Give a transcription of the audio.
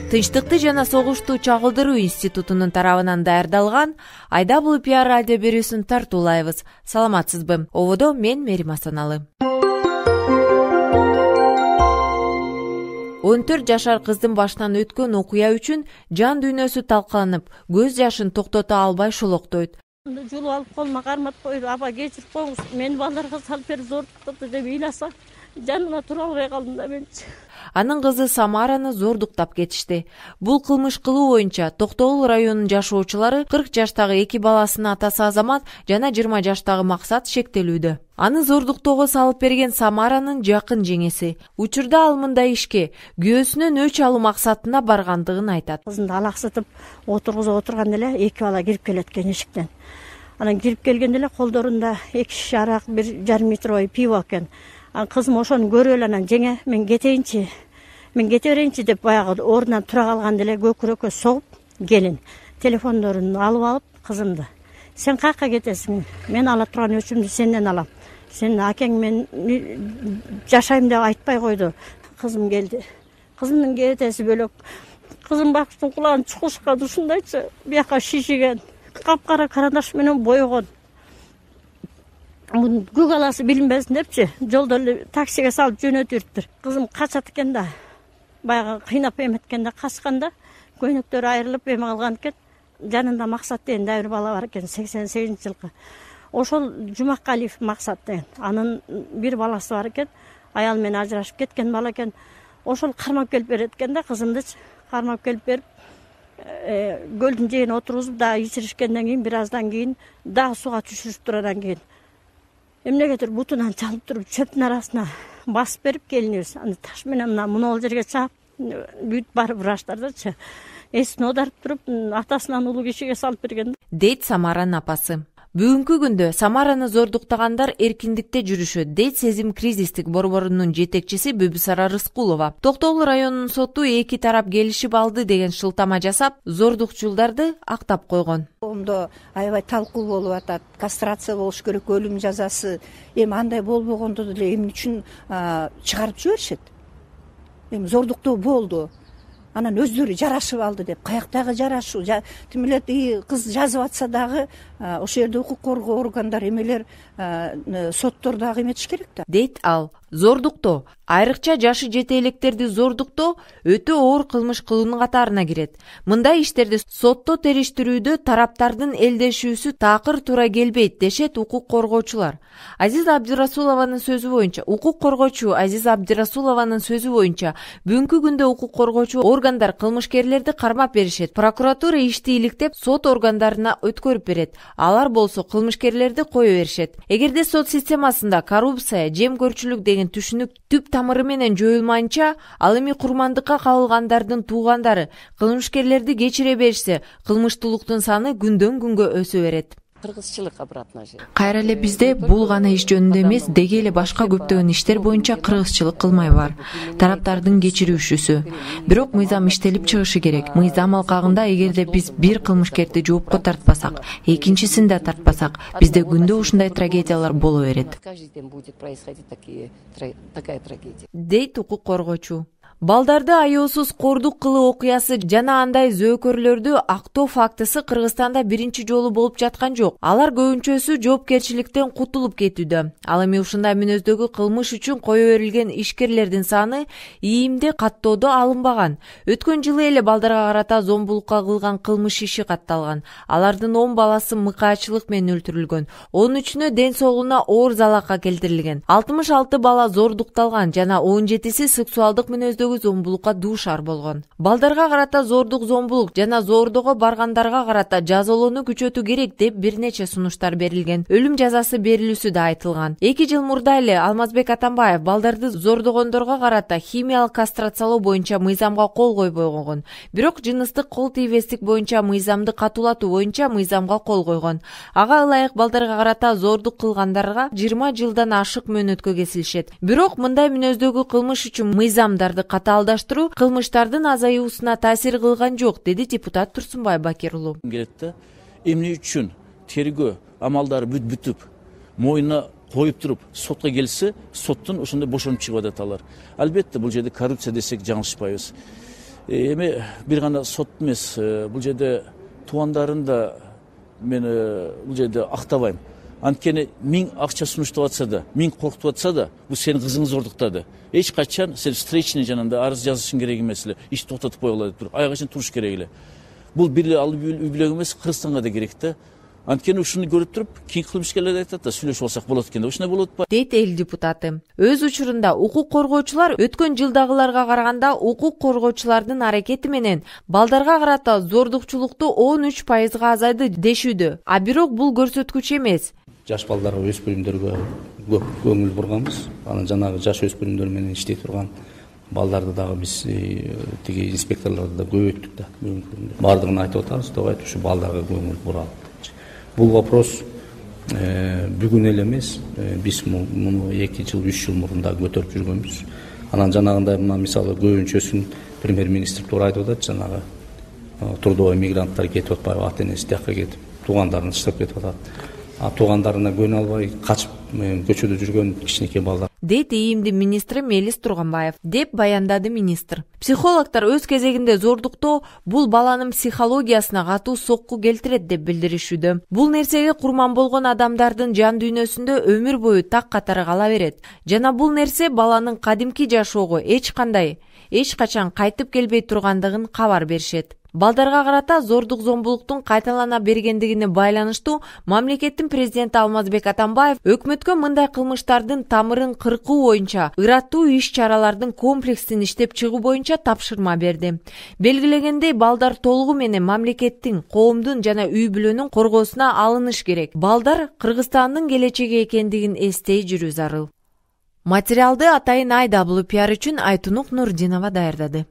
Тынчтыкты жана согушту чагылдыруу институтунун тарабынан даярдалган Айда бул пиар радио берүүсүн тартуулайбыз. Саламатсызбы? Ободо мен Мерим Асаналы. 14 жашар кыздын башынан өткөн окуя үчүн жан дүйнөсү талкаланып, көз жашын токтото албай шулоктойт. Жулуп алып колума кармап койду. Аба кечирип коюңуз, мени балдарга салып берип зордуктапты деп ыйласа, жанына тура албай калдым да менчи. Анын кызы Самараны зордуктап кетишти. Бул кылмыш кылуу боюнча Токтогул районунун жашоочулары 40 жаштагы 2 баласынын атасы Азамат жана 20 жаштагы Максат шектелүүдө. Аны зордуктоого салып берген Самаранын жакын жеңеси. Учурда ал мындай ишке күйөөсүнөн өч алуу максатына баргандыгын айтат. Кызымды алаксытып отургузуп отурганда эле 2 бала кирип келет экен эшиктен. Анан кирип келгенде эле колдорунда 2 шише арак, 1,5 литровый пиво экен. Кызым ошону көрүп эле анан жеңе мен кетейинчи берейинчи деп баягы ордунан тура калганда эле көкүрөккө согуп келин телефондорун алып алып кызымды сен каяка кетесиң, мен ала турган өчүмдү сенден алам, сенин акең мен жашайм деп айтпай койду. Кызым келди, кызымдын кетеси бөлөк, кызым бактын кулагын чукушка ушундайчы бияка шишиген, капкара карандаш менен боёгон. Көк аласы билинбесин депчи жолдо эле таксиге салып жөнөтүптүр. Кызым качат экен да, баягы кыйнап эметкенде качканда көйнөктөрү айрылып эме калган экен. Жанында Максат деген да бир бала бар экен, 88-жылкы. Ошол Жумакалиев Максат деген. Анын бир баласы бар экен, аял менен ажырашып кеткен бала экен. Ошол кармап келип берет экен да кызымдычы. Кармап келип берип көлдүн жээгине отургузуп дагы ичиришкенден кийин бир аздан кийин дагы сууга түшүрүптүр. Андан кийин эмнегедир бутунан чалып туруп чөптүн арасына басып берип келинибиз. Аны таш менен мына жерге чаап бүт барып ыраштардычы. Эсин одарып туруп атасынан улуу кишиге салып берген дейт Самаранын апасы. Бүгүнкү күндө Самараны зордуктагандар эркиндикте жүрүшөт, дейт Сезим кризистик борборунун жетекчиси Бүбүсара Рыскулова. Токтогул районунун соту эки тарап келишип алды деген шылтама жасап, зордукчулдарды актап койгон. Ондо аябай талкуу болуп атат. Кастрация болуш керек, өлүм жазасы. Эми андай болбогондо деле эмне үчүн чыгарып жиберишет? Эми зордуктоо болду. Анан өздөрү жарашып алды деп, каяктагы жарашуу? Тим эле кыз жазып атса дагы ошол жерде укук коргоо органдары эмелер, соттор дагы эметиш керек да. Дейт ал. Зордуктоо, айрыкча жашы жете электерди зордуктоо өтө оор кылмыш кылуунун катарына кирет. Мындай иштерди сотто териштирүүдө тараптардын элдешүүсү такыр туура келбейт, дешет укук коргоочулар. Укук коргоочу Азиз Абдирасулованын сөзү боюнча, бүгүнкү күндө укук коргоочу органдар кылмышкерлерди кармап беришет. Прокуратура ишти иликтеп, сот органдарына өткөрүп берет. Алар болсо кылмышкерлерди кое беришет. Эгерде сот системасында коррупция, жемкөрчүлүк деген түшүнүк түп тамыры менен жоюлмайынча, ал эми курмандыкка кабылгандардын туугандары кылмышкерлерди кечире беришсе, кылмыштуулуктун саны күндөн күнгө өсө берет. Кыргызчылык обратно же. Кайра эле бизде бул гана иш жөнүндө эмес, деги эле башка көптөгөн иштер боюнча кыргызчылык кылмай бар. Тараптардын кечирүүчүсү. Бирок мыйзам иштелип чыгышы керек. Мыйзам алкагында эгерде биз бир кылмышкерди жоопко тартпасак, экинчисин да тартпасак, бизде күндө ушундай трагедиялар боло берет. Каждый день будет происходить такая трагедия. Дейт укук коргоочу. Балдарды аяосуз кордук кылуу окуясы жана андай зөөкөрлөрдү актоо фактысы Кыргызстанда биринчи жолу болуп жаткан жок. Алар көбүнчөсү жоопкерчиликтен кутулуп кетүүдө. Ал эми ушундай мүнөздөгү кылмыш үчүн кое берилген ишкерлердин саны ийимде каттоодо алынбаган. Өткөн жылы эле балдарга карата зомбулукка кылган кылмыш иши катталган. Алардын 10 баласы мыкаачылык менен өлтүрүлгөн. 13-үнө ден соолугуна оор залалга келтирилген. 66 бала зордукталган жана 17си сексуалдык мүнөздөгү зомбулукка дуушар болгон. Балдарга карата зордук, зомбулук жана зордого баргандарга карата жазалоону күчөтүү керек деп бир нече сунуштар берилген. Өлүм жазасы берилүүсү да айтылган. 2 жыл мурда эле Алмазбек Атамбаев балдарды зордогондорго карата химиялык кастрациялоо боюнча мыйзамга кол койбой койгон. Бирок жыныстык кол тийбестик боюнча мыйзамды катуулатуу боюнча мыйзамга кол койгон. Ага ылайык балдарга карата зордук кылгандарга 20 жылдан ашык мөөнөткө кесилишет. Бирок мындай мүнөздөгү кылмыш үчүн мыйзамдарды катаалдаштыруу кылмыштардын азаюусуна таасир кылган жок, деди депутат Турсунбай Бакир уулу. Келетте эмне үчүн тергөө амалдары бүтүп, моюна коюп туруп сотко келсе, соттун ошондой бошонуп чыгып атат алар. Албетте бул жерде коррупция десек жаңылышпайбыз. Эми бир гана сот эмес, бул жерде туугандарын да мен бул жерде актабайм. Анткени 1000 акча сунуштап атса да, 1000 коркутуп атса да, бул сенин кызыңыз зордуктады. Эч качан сен встречный жанында арыз жазышың керек эмес эле, ишти токтотуп койгула деп туруп, аяга чейин туруш керек эле. Бул бир эле алып үй бүлөк эмес, Кыргызстанга да керек да. Анткени ушуну көрүп туруп, кийинки кылмышкерлер айтат да, сүйлөшүп алсак болот экен да. Ушундай болот атпайбы? Дейт эл депутаты. Өз учурунда укук коргоочулар өткөн жылдагыларга караганда укук коргоочулардын аракети менен балдарга карата зордукчулукту 13% азайды дешүүдө. А бирок бул көрсөткүч эмес. Жаш балдарга, өспүрүмдөргө көп көңүл бурганбыз. Анан жанагы жаш өспүрүмдөр менен иштей турган балдарды дагы биз тиги инспекторлорду да көбөйттүк да. Бардыгын айтып атабыз, добайт ушу балдарга көңүл буралып. Бул вопрос бүгүн эле эмес, биз муну 2 жыл, 3 жыл мурун да көтөрүп жүргөнбүз. Анан жанагындай мына мисалы көбүнчөсүн премьер-министр туура айтып атат, жанагы трудовой мигранттар кетип атпайбы, ата-энеси тияка кетип, туугандарын таштап кетип атат. А туугандарына көнө албай качып көчөдө жүргөн кичинекей балдар. Дейт ИИМдин министри Мелис Турганбаев, деп баяндады министр. Психологдор өз кезегинде зордуктоо бул баланын психологиясына катуу сокку келтирет деп билдиришүүдө. Бул нерсеге курман болгон адамдардын жан дүйнөсүндө өмүр бою так катары кала берет. Жана бул нерсе баланын кадимки жашоого эч качан кайтып келбей тургандыгын кабар беришет. Балдарга карата зордук зомбулуктун кайталана бергендигине байланыштуу мамлекеттин президенти Алмазбек Атамбаев өкмөткө мындай кылмыштардын тамырын кыркуу боюнча ыраттуу иш-чаралардын комплексин иштеп чыгуу боюнча тапшырма берди. Белгилегендей, балдар толугу менен мамлекеттин, коомдун жана үй бүлөнүн коргоосуна алыныш керек. Балдар Кыргызстандын келечеги экендигин эстей жүрүү зарыл. Материалды Атайын IWPR үчүн Айтунук Нурдинова даярдады.